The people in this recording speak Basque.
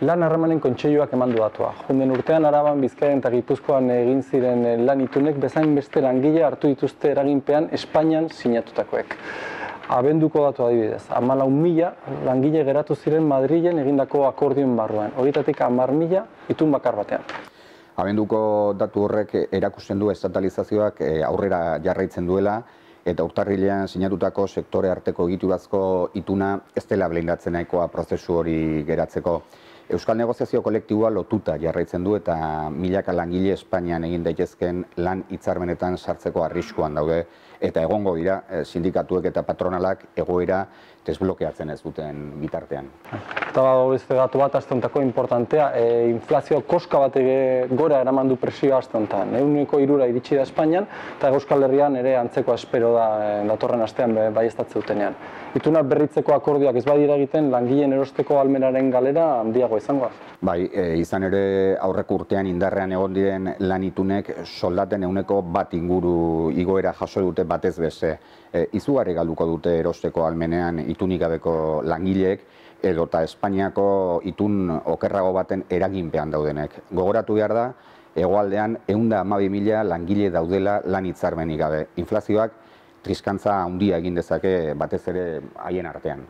Lan harremanen kontseiluak eman du datua. Jonden urtean Araban, Bizkaian eta Gipuzkoan egin ziren lan itunek bezain beste langile hartu dituzte eraginpean Espainian sinatutakoek. Abenduko datu adibidez, 14.000 langile geratu ziren Madrilen egindako akordioen barruan. Horietatik 10.000 itun bakar batean. Abenduko datu horrek erakusten du estatalizazioak aurrera jarraitzen duela, eta urtarrilean sinatutako sektore arteko egiturazko ituna ez dela blindatzen nahikoa prozesu hori geratzeko. Euskal negoziazio kolektiboa lotuta jarraitzen du eta milaka langile Espainian egin daitezken lan hitzarmenetan sartzeko arriskuan daude, eta egongo dira sindikatuek eta patronalak egoera desblokeatzen ez duten bitartean. Eta beste datu bat aste hontako importantea, inflazio koska bat gora eraman du presioa aste hontan. 3% iritsi da Espainian, eta Euskal Herrian ere antzeko espero da datorren astean baieztatze dutenean. Itunak berritzeko akordioak ez badira egiten, langileen erosteko ahalmenaren galera handiago izango. Bai, izan ere aurreko urtean indarrean egon diren lan itunek soldaten 1% inguru igoera jaso dute batez beste. Izugarri galduko dute erosteko ahalmenean itunik gabeko langileek, edota Espainiako itun okerrago baten eraginpean daudenek. Gogoratu behar da, hegoaldean 112.000 langile daudela lan hitzarmenik gabe. Inflazioak triskantza handia egin dezake batez ere haien artean.